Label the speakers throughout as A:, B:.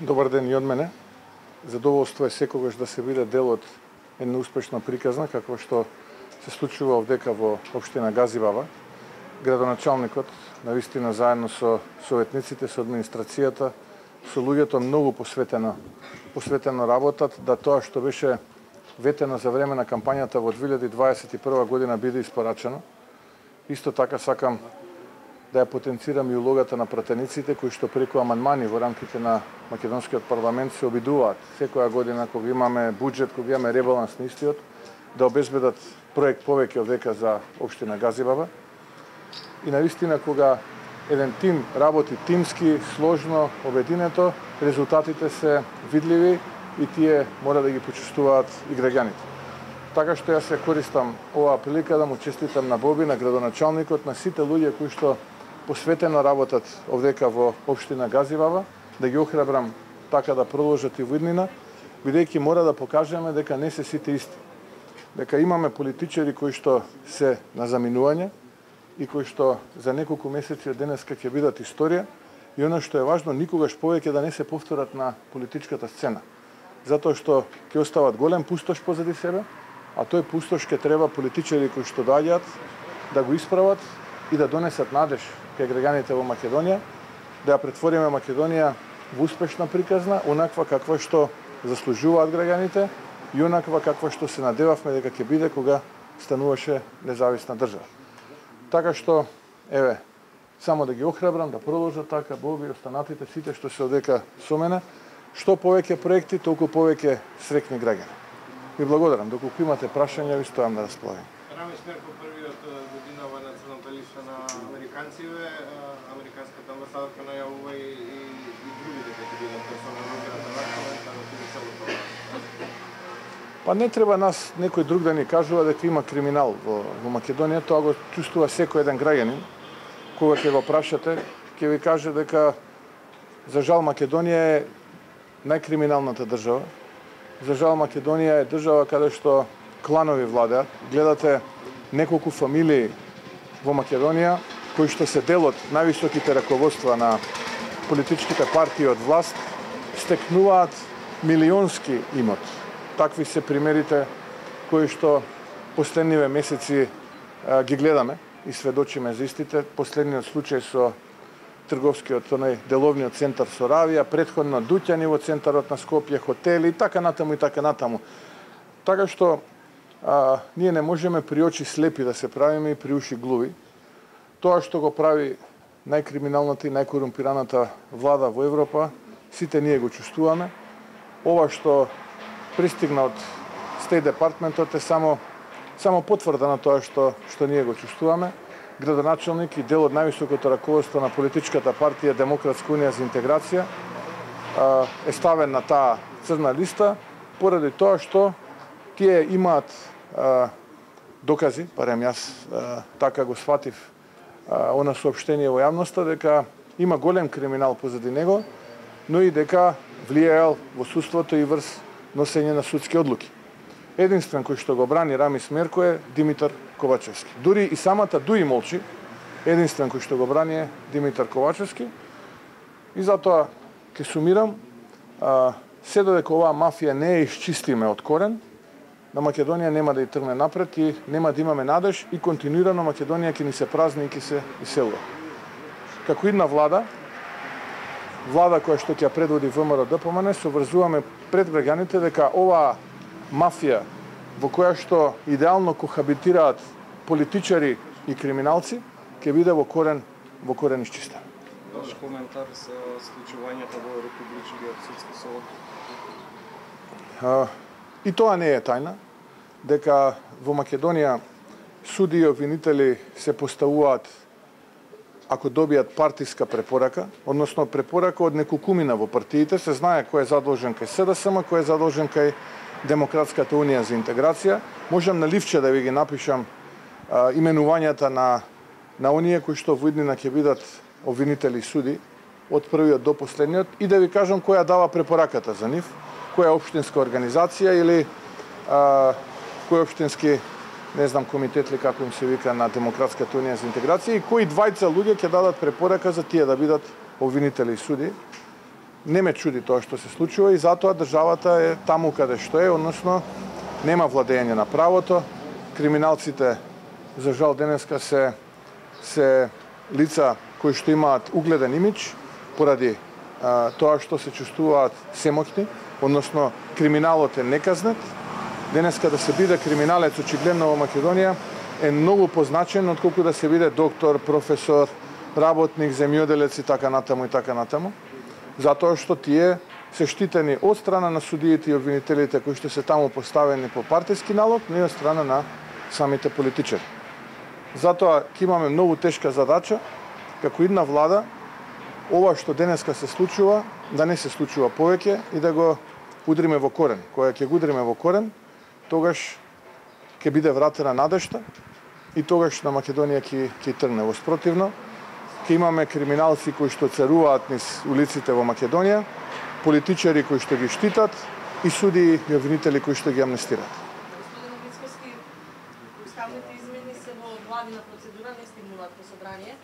A: Добар ден и од мене. Задоволство е секогаш да се биде дел од една успешна приказна, како што се случува овдека во општина Газибаба. Градоначалникот, навистина заедно со советниците, со администрацијата, со луѓето многу посветено работат да тоа што беше ветено за време на кампањата во 2021 година биде испорачено. Исто така сакам да ја потенцирам и улогата на пратениците кои што преку амандмани во рамките на македонскиот парламент се обидуваат секоја година кога имаме буџет, кога имаме ребаланс на истиот, да обезбедат проект повеќе овдека за општина Газибаба. И навистина кога еден тим работи тимски, сложно, обединето, резултатите се видливи и тие мора да ги почувствуваат и граѓаните. Така што јас се користам оваа прилика да му честитам на Боби, на градоначалникот, на сите луѓе кои што посветено работат овдека во општина Газибаба, да ги охрабрам така да продолжат и во иднина, бидејќи мора да покажеме дека не се сите исти. Дека имаме политичари кои што се на заминување и кои што за неколку месеци од денеска ќе бидат историја и она што е важно, никогаш повеќе да не се повторат на политичката сцена. Затоа што ќе остават голем пустош позади себе, а тој пустош ќе треба политичари кои што доаѓаат да го исправат и да донесат надеж кај граѓаните во Македонија, да ја претвориме Македонија во успешна приказна, онаква каква што заслужуваат граѓаните и онаква каква што се надевавме дека ќе биде кога стануваше независна држава. Така што, еве, само да ги охрабрам, да продолжат така, Боби и останатите, сите што се одека со мене, што повеќе проекти, толку повеќе среќни граѓани. Ви благодарам, доколку имате прашања, ви стојам на располагање.
B: Рамис Мерко, првиот година во националната листа на американците, американската амбасадорка најавува и другите дека ќе бидат персона нон грата на момента на целото.
A: Па не треба нас некој друг да ни кажува дека има криминал во Македонија, тоа го чувствува секој еден граѓанин. Кога ќе го прашате, ќе ви каже дека за жал Македонија е најкриминалната држава. За жал Македонија е држава каде што кланови владеат. Гледате неколку фамилии во Македонија кои што се дел од највисоките раководства на политичките партии од власт, стекнуваат милионски имот. Такви се примерите кои што последниве месеци ги гледаме и сведочиме за истите. Последниот случај со трговскиот, деловниот центар со Равија, претходно дуќани во центарот на Скопје, хотели и така натаму и така натаму. Така што ние не можеме при очи слепи да се правиме и при уши глуви. Тоа што го прави најкриминалната и најкорумпираната влада во Европа, сите ние го чувствуваме. Ова што пристигна од Стејт департментот е само потврда на тоа што ние го чувствуваме. Градоначалник и дел од највисокото раководство на политичката партија Демократска унија за интеграција е ставен на таа црна листа поради тоа што тие имаат докази, барем јас така го сватив она соопштение во јавноста, дека има голем криминал позади него, но и дека влијаел во судството и врз носење на судски одлуки. Единствен кој што го брани Рамис Мерко е Димитар Ковачевски. Дури и самата Дуи молчи, единствен кој што го брани е Димитар Ковачевски. И затоа ќе сумирам, се додека оваа мафија не е исчистиме од корен, на Македонија нема да и тргне напред и нема да имаме надеж и континуирано Македонија ќе ни се празни и ќе се иселува. Како една влада која што ќе предводи ВМРО-ДПМН, се обврзуваме пред граѓаните дека оваа мафија во која што идеално кохабитираат политичари и криминалци, ќе биде во корен исчистена.
C: Ваш коментар за случувањето во Републичниот судски совет?
A: И тоа не е тајна, дека во Македонија суди и обвинители се поставуваат ако добијат партиска препорака, односно препорака од неколкумина во партиите, се знае кој е задолжен кај СДСМ, кој е задолжен кај Демократската унија за интеграција. Можам на ливче да ви ги напишам именувањата на оние кои што во иднина ќе бидат обвинители и суди од првиот до последниот и да ви кажам која дава препораката за нив, која општинска организација или кој општински не знам комитет ли како им се вика на Демократската унија за интеграција и кои двајца луѓе ќе дадат препорака за тие да бидат обвинители и суди. не ме чуди тоа што се случува и затоа државата е таму каде што е, односно нема владење на правото. Криминалците, за жал, денеска се лица кои што имаат угледен имидж поради тоа што се чувствуваат семоќни, односно криминалот е неказнет. Денеска да се биде криминалец очигледно во Македонија е многу позначен отколку да се биде доктор, професор, работник, земјоделец и така натаму и така натаму. Затоа што тие се штитени од страна на судиите и обвинителите кои што се таму поставени по партиски налог, но и од страна на самите политичари. Затоа ќе имаме многу тешка задача како една влада ова што денеска се случува да не се случува повеќе и да го удриме во корен. Кога ќе го удриме во корен, тогаш ќе биде вратена надежта и тогаш на Македонија ќе тргне. Во спротивно, ќе имаме криминалци кои што царуваат низ улиците во Македонија, политичари кои што ги штитат и судии и обвинители кои што ги амнестираат.
D: Господин Мицкоски, уставните измени се во владина процедура, не стигнуваат во собрание.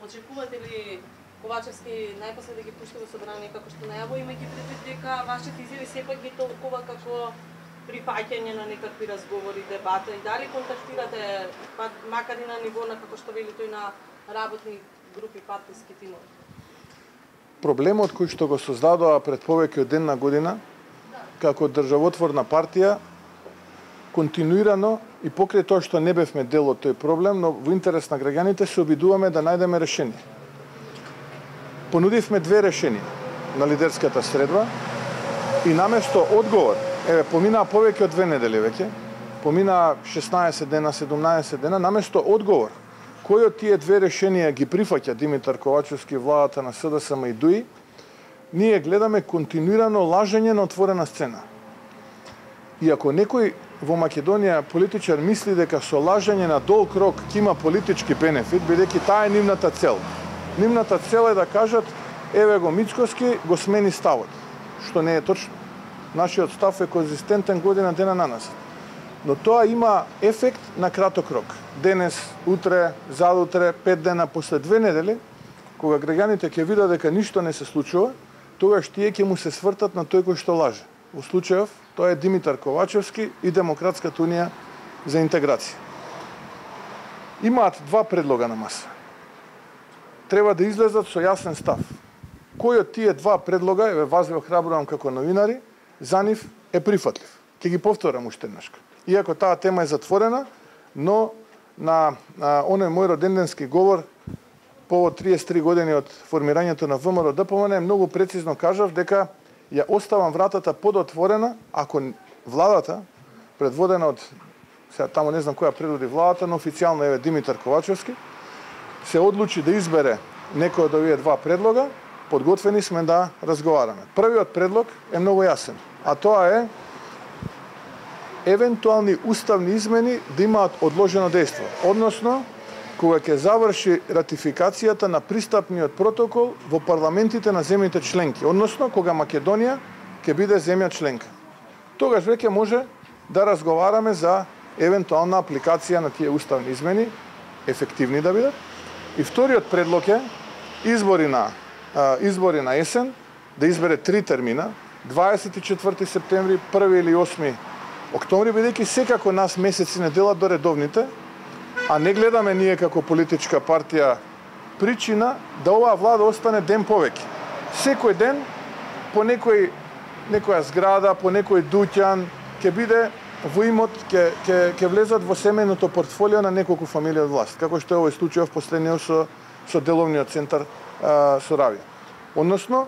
D: Очекувате ли Ковачевски најпосле да ги пушти во собрание како што најаво, имајќи предвид дека вашите изјави сепак ги толкува како прифаќање на некакви разговори, дебата и дали контактирате макар и на ниво на како што вели тој на работни групи, партиски тимови?
A: Проблемот кој што го создадоа пред повеќе од една година како државотворна партија континуирано и покрај тоа што не бевме дел од тој проблем, но во интерес на граѓаните се обидуваме да најдеме решение. Понудивме две решенија на лидерската средба и наместо одговор, поминаа повеќе од 2 недели веќе, поминаа 16 дена, 17 дена, наместо одговор, кој од тие две решенија ги прифаќа Димитар Ковачевски, владата на СДСМ и ДУИ, ние гледаме континуирано лажење на отворена сцена. И ако некој во Македонија политичар мисли дека со лажење на долг рок ќе има политички бенефит, бидејќи таа е нивната цел. Нивната цел е да кажат, еве го Мицкоски, го смени ставот, што не е точно. Нашиот став е конзистентен година дена на нас. Но тоа има ефект на краток рок. Денес, утре, задутре, 5 дена, после 2 недели, кога граѓаните ќе видат дека ништо не се случува, тогаш тие ќе му се свртат на тој кој што лаже. Во случајов, тоа е Димитар Ковачевски и Демократската унија за интеграција. Имаат 2 предлога на маса. Треба да излезат со јасен став. Кој од тие 2 предлога, еве вас ве охрабрувам како новинари, за нив е прифатлив. Ќе ги повторам уште еднашка. Иако таа тема е затворена, но на оној мој роденденски говор повод 33 години од формирањето на ВМРО ДПМН многу прецизно кажав дека ја оставам вратата подотворена ако владата предводена од сега таму не знам која предводи владата, но официјално е Димитар Ковачевски се одлучи да избере некој од овие 2 предлога, подготвени сме да разговараме. Првиот предлог е многу јасен, а тоа е евентуални уставни измени да имаат одложено дејство, односно кога ќе заврши ратификацијата на пристапниот протокол во парламентите на земјите членки, односно кога Македонија ќе биде земја членка. Тогаш веќе може да разговараме за евентуална апликација на тие уставни измени, ефективни да бидат. И вториот предлог е избори на есен, да избере 3 термина, 24 септември, 1 или 8 октомври, бидејќи секако нас месеци не делат до редовните, а не гледаме ние како политичка партија причина да оваа влада остане ден повеќе. Секој ден по некоја зграда, по некој дуќан ќе биде во имот, ќе влезат во семејното портфолио на неколку фамилии од власт, како што е овој случај в последниот со деловниот центар Соравија. Односно,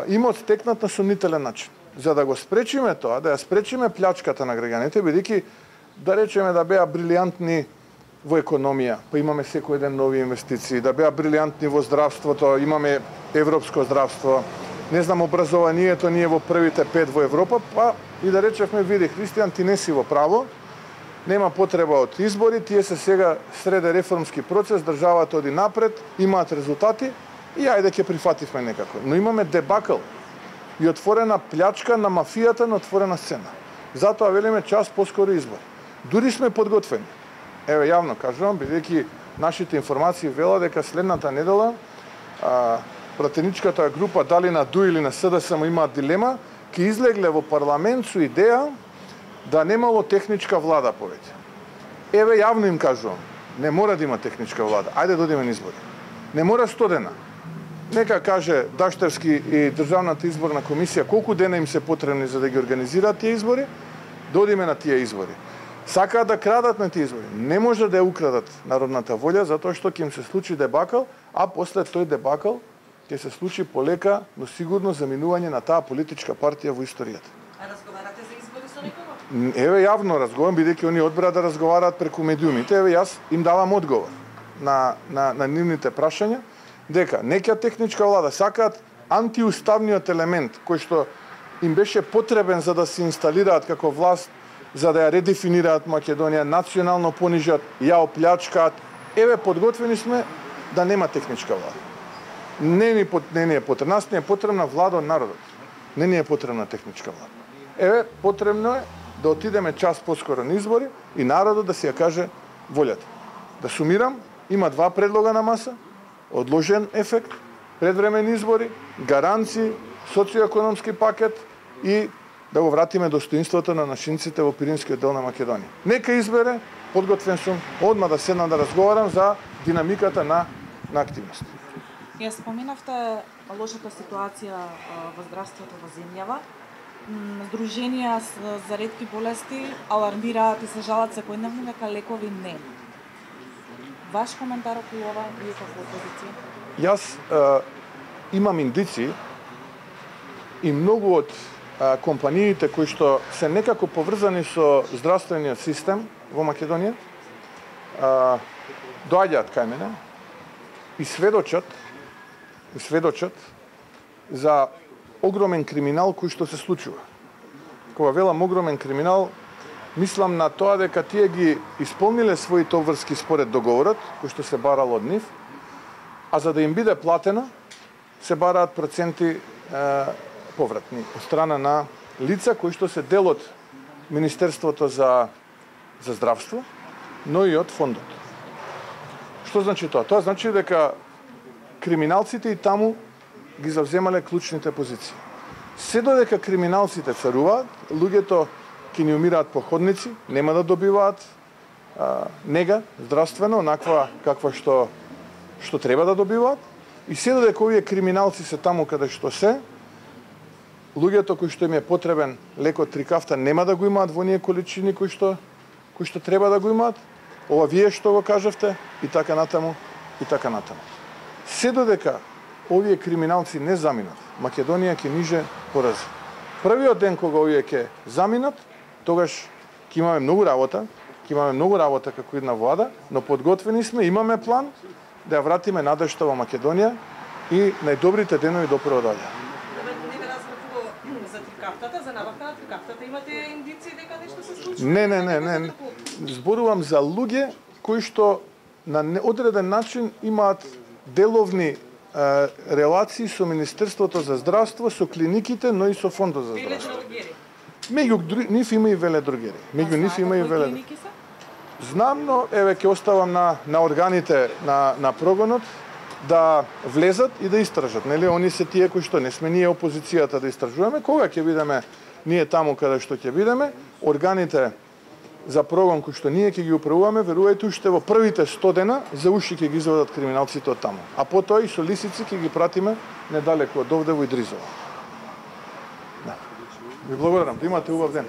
A: имот стекнат на сомнителен начин. За да го спречиме тоа, да ја спречиме плячката на граѓаните, бидејќи да речеме да беа брилијантни во економија, па имаме секој ден нови инвестиции, да беа брилијантни во здравството, имаме европско здравство, не знам, образованието ние во првите 5 во Европа, па и да речевме, види, Христијан, ти не си во право, нема потреба од избори, тие се сега среде реформски процес, државата оди напред, имаат резултати и ајде ќе прифативме некако. Но имаме дебакл и отворена плячка на мафијата на отворена сцена. Затоа велиме час поскоро избор. Дури сме подготвени. Еве јавно кажувам, бидејќи нашите информации велат дека следната недела пратеничката група дали на ДУ или на СДСМ имаат дилема, ќе излегле во парламент со идеја да немало техничка влада повеќе. Еве јавно им кажувам, не мора да има техничка влада. Ајде да одиме на избори. Не мора 100 дена. Нека каже Даштевски и Државната изборна комисија колку дена им се потребни за да ги организираат тие избори, да одиме на тие избори. Сакаат да крадат на тие избори. Не може да ја украдат народната волја, затоа што ќе им се случи дебакал, а после тој дебакал ќе се случи полека, но сигурно заминување на таа политичка партија во историјата.
D: А разговарате за избори со некого?
A: Еве јавно разговарам, бидејќи они одбраа да разговараат преку медиумите, еве јас им давам одговор на нивните прашања, дека неќа техничка влада сакаат антиуставниот елемент кој што им беше потребен за да се инсталираат како власт, за да ја редефинираат Македонија, национално понижат, ја оплячкаат. Еве подготвени сме да нема техничка влада. Не ни е потребна, нас не е потребна влада од народот. Не ни е потребна техничка влада. Еве потребно е да отидеме час поскоро на избори и народот да си ја каже волјата. Да сумирам, има два предлога на маса: одложен ефект, предвремени избори, гаранции, социоекономски пакет и да го вратиме достоинството на нашинците во Пиринскиот дел на Македонија. Нека избере, подготвен сум одма да седнам да разговарам за динамиката на активност.
E: Ја споменавте лошата ситуација во здравството во земјава. Здруженија за ретки болести алармираат и се жалат секојдневно дека лекови не. Ваш коментар околу ова вие како опозиција?
A: Јас имам индици и многу од компаниите кои што се некако поврзани со здравствениот систем во Македонија доаѓаат кај мене и сведочат за огромен криминал кој што се случува. Кога велам огромен криминал, мислам на тоа дека тие ги исполниле своите обврски според договорот кој што се барал од нив, а за да им биде платено се бараат проценти повратни од страна на лица кои што се дел од Министерството за здравство, но и од фондот. Што значи тоа? Тоа значи дека криминалците и таму ги завземале клучните позиции. Се додека криминалците царуваат, луѓето ќе ни умираат по ходници, нема да добиваат нега здравствено, онаква каква што треба да добиваат, и се додека овие криминалци се таму каде што се, луѓето кои што им е потребен лекот трикафта нема да го имаат во оние количини кои што треба да го имаат. Ова вие што го кажавте и така натаму и така натаму. Се додека овие криминалци не заминат, Македонија ќе ниже порази. Првиот ден кога овие ќе заминат, тогаш ќе имаме многу работа како една влада, но подготвени сме, имаме план да ја вратиме надежта во Македонија и најдобрите денови допро доаѓаат.
D: За трикафтата, за набавка на трикафтата имате индиции дека нешто се случува?
A: Не. Зборувам за луѓе кои што на одреден начин имаат деловни релации со Министерството за здравство, со клиниките, но и со Фондот за здравство. Меѓу нив има и веледрогери. Знам, но еве ќе оставам на органите на прогонот да влезат и да истражат. Нели, они се тие кои што не сме ние опозицијата да истражуваме. Кога ќе бидеме ние таму каде што ќе бидеме, органите за прогон кои што ние ќе ги управуваме, верувајте, уште во првите 100 дена за уши ќе ги извадат криминалците од таму. А потоа и со лисици ќе ги пратиме недалеку од овде во Идризово. Да. Ви благодарам, да имате убав ден.